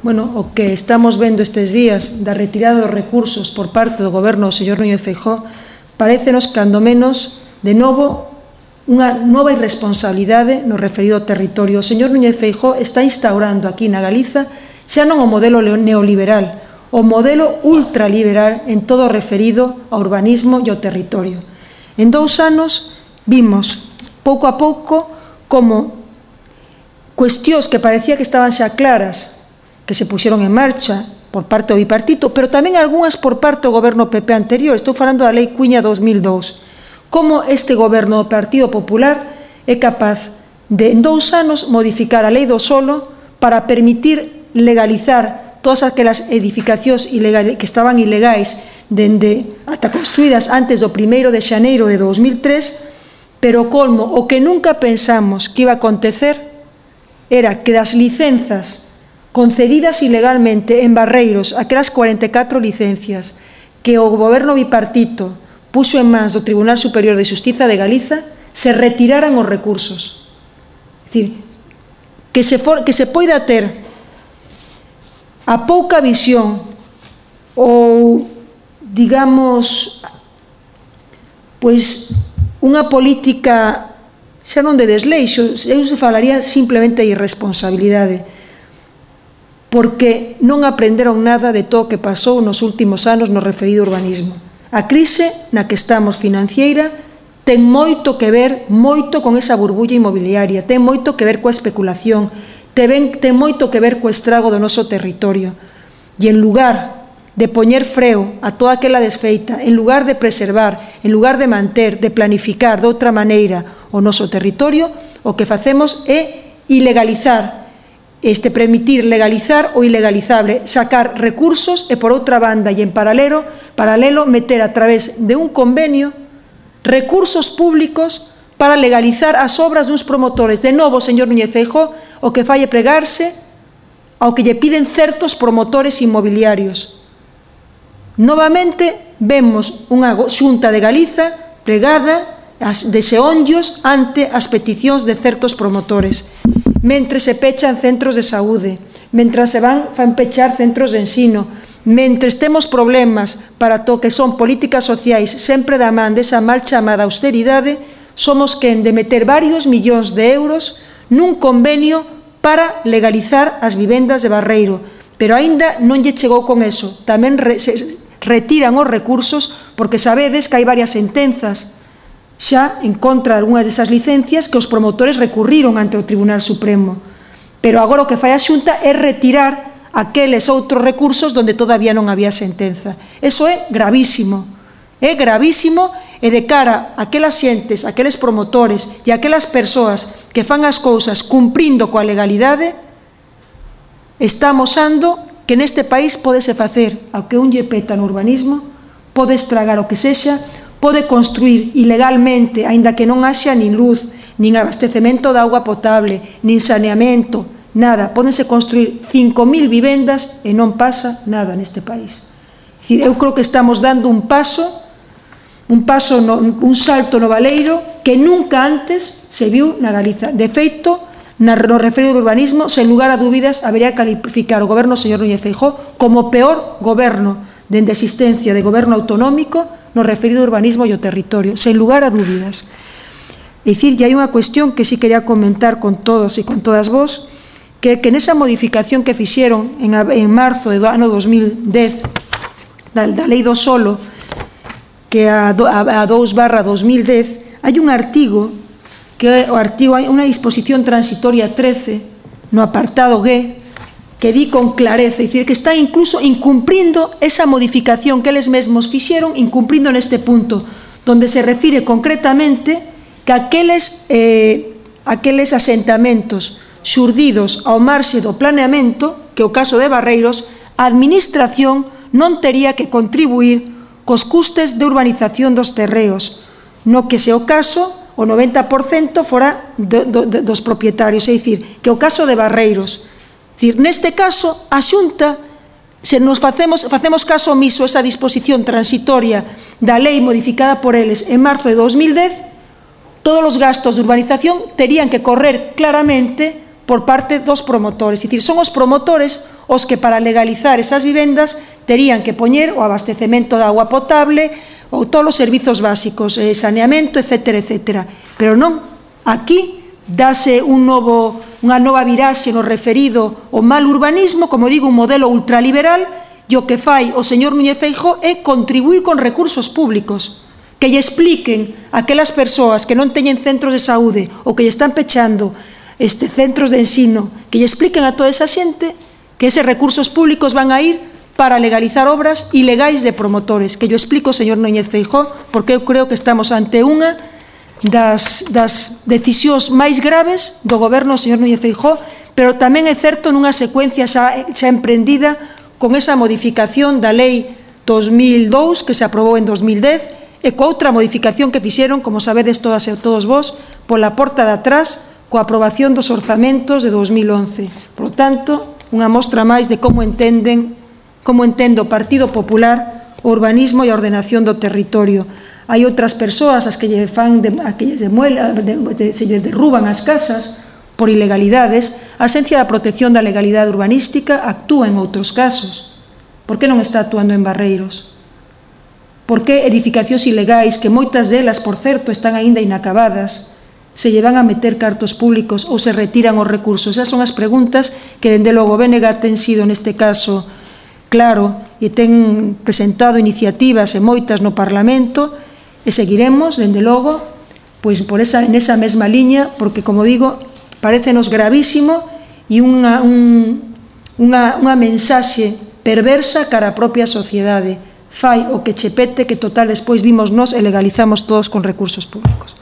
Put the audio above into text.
Bueno, o que estamos vendo estes días da retirada dos recursos por parte do goberno do señor Núñez Feijóo parécenos, cando menos, de novo, unha nova irresponsabilidade no referido ao territorio. O señor Núñez Feijóo está instaurando aquí na Galiza xa non o modelo neoliberal, o modelo ultraliberal en todo o referido ao urbanismo e ao territorio. En 2 anos vimos, pouco a pouco, como cuestións que parecía que estaban xa claras, que se puxeron en marcha por parte do bipartito, pero tamén algunhas por parte do goberno PP anterior. Estou falando da Lei Cuña 2002. Como este goberno do Partido Popular é capaz de, en 2 anos, modificar a Lei do Solo para permitir legalizar todas aquelas edificacións que estaban ilegais ata construídas antes do 1º de xaneiro de 2003, pero colmo, o que nunca pensamos que iba a acontecer era que das licenzas concedidas ilegalmente en Barreiros, aquelas 44 licencias que o goberno bipartito puxo en mans do Tribunal Superior de Xustiza de Galiza, se retiraran os recursos. É dicir, que se poida ter a pouca visión ou, digamos, pois unha política xa non de desleixo, eu se falaría simplemente de irresponsabilidade, porque non aprenderon nada de todo o que pasou nos últimos anos no referido urbanismo. A crise na que estamos financiera ten moito que ver, moito con esa burbulla inmobiliaria, ten moito que ver coa especulación, ten moito que ver co estrago do noso territorio. E en lugar de poñer freo a toda aquela desfeita, en lugar de preservar, en lugar de manter, de planificar de outra maneira o noso territorio, o que facemos é ilegalizar, permitir legalizar o ilegalizable, sacar recursos e, por outra banda e en paralelo, meter a través de un convenio recursos públicos para legalizar as obras duns promotores. De novo, señor Núñez Feijóo, o que fai é pregarse ao que lle piden certos promotores inmobiliarios. Novamente, vemos unha Xunta de Galiza pregada de xeonllos ante as peticións de certos promotores. Mentre se pechan centros de saúde, mentre se van pechar centros de ensino, mentre temos problemas para to que son políticas sociais sempre da man desa mal chamada austeridade, somos quen de meter varios millóns de euros nun convenio para legalizar as vivendas de Barreiro. Pero aínda non lle chegou con eso, tamén retiran os recursos porque sabedes que hai varias sentenzas xa en contra de algunhas desas licencias que os promotores recurriron ante o Tribunal Supremo. Pero agora o que fai a Xunta é retirar aqueles outros recursos onde todavía non había sentenza. Eso é gravísimo e de cara a aquelas xentes, aqueles promotores e aquelas persoas que fan as cousas cumprindo coa legalidade, está amosando que neste país podese facer ao que un lle peta no urbanismo, pode estragar o que sexa, pode construir ilegalmente, aínda que non haxa nin luz, nin abastecemento de auga potable, nin saneamento, nada. Pódense construir 5.000 vivendas e non pasa nada neste país. É dicir, eu creo que estamos dando un salto no baleiro que nunca antes se viu na Galiza. De feito, no referido ao urbanismo, sen lugar a dúbidas, habería que calificar o goberno do señor Núñez Feijóo como o peor goberno dende a existencia de goberno autonómico no referido ao urbanismo e ao territorio, sen lugar a dúbidas. É dicir, que hai unha cuestión que sí quería comentar con todos e con todas vos, que nesa modificación que fixeron en marzo do ano 2010 da Lei do Solo, que a 2/2010, hai un artigo, que o artigo, hai unha disposición transitoria 13, no apartado G, que di con clareza, é dicir, que está incluso incumprindo esa modificación que eles mesmos fixeron, incumprindo neste punto, donde se refire concretamente que aqueles asentamentos xurdidos ao marxe do planeamento, que é o caso de Barreiros, a administración non tería que contribuir cos custes de urbanización dos terreos, no que se o caso, o 90% fora dos propietarios, é dicir, que o caso de Barreiros. Neste caso, a Xunta, se nos facemos caso omiso esa disposición transitoria da lei modificada por eles en marzo de 2010, todos os gastos de urbanización terían que correr claramente por parte dos promotores. É dicir, son os promotores os que para legalizar esas vivendas terían que poñer o abastecemento de agua potable ou todos os servizos básicos, saneamento, etcétera, etcétera. Pero non, aquí dase unha nova viraxe no referido ao mal urbanismo, como digo, un modelo ultraliberal, e o que fai o señor Núñez Feijóo é contribuir con recursos públicos, que lle expliquen a aquelas persoas que non teñen centros de saúde ou que lle están pechando centros de ensino, que lle expliquen a toda esa xente que eses recursos públicos van a ir para legalizar obras ilegais de promotores, que yo explico, señor Núñez Feijóo, porque eu creo que estamos ante unha das decisións máis graves do goberno do señor Núñez Feijóo, pero tamén é certo nunha secuencia xa emprendida con esa modificación da lei 2002 que se aprobou en 2010 e coa outra modificación que fixeron, como sabedes todas e todos vos, pola porta de atrás coa aprobación dos orzamentos de 2011. Por lo tanto, unha mostra máis de como entende o Partido Popular o urbanismo e a ordenación do territorio. Hai outras persoas as que lle derruban as casas por ilegalidades. A Axencia da Protección da Legalidade Urbanística actúa en outros casos. Por que non está actuando en Barreiros? Por que edificacións ilegais, que moitas delas, por certo, están aínda inacabadas, se lle van a meter cartos públicos ou se retiran os recursos? Esas son as preguntas que, dende logo, o BNG ten sido, neste caso, claro, e ten presentado iniciativas e moitas no Parlamento, e seguiremos, dende logo, pois nesa mesma liña, porque, como digo, parécenos gravísimo e unha mensaxe perversa cara á propia sociedade. Fai o que che pete, que total despois vimos nós e legalizamos todos con recursos públicos.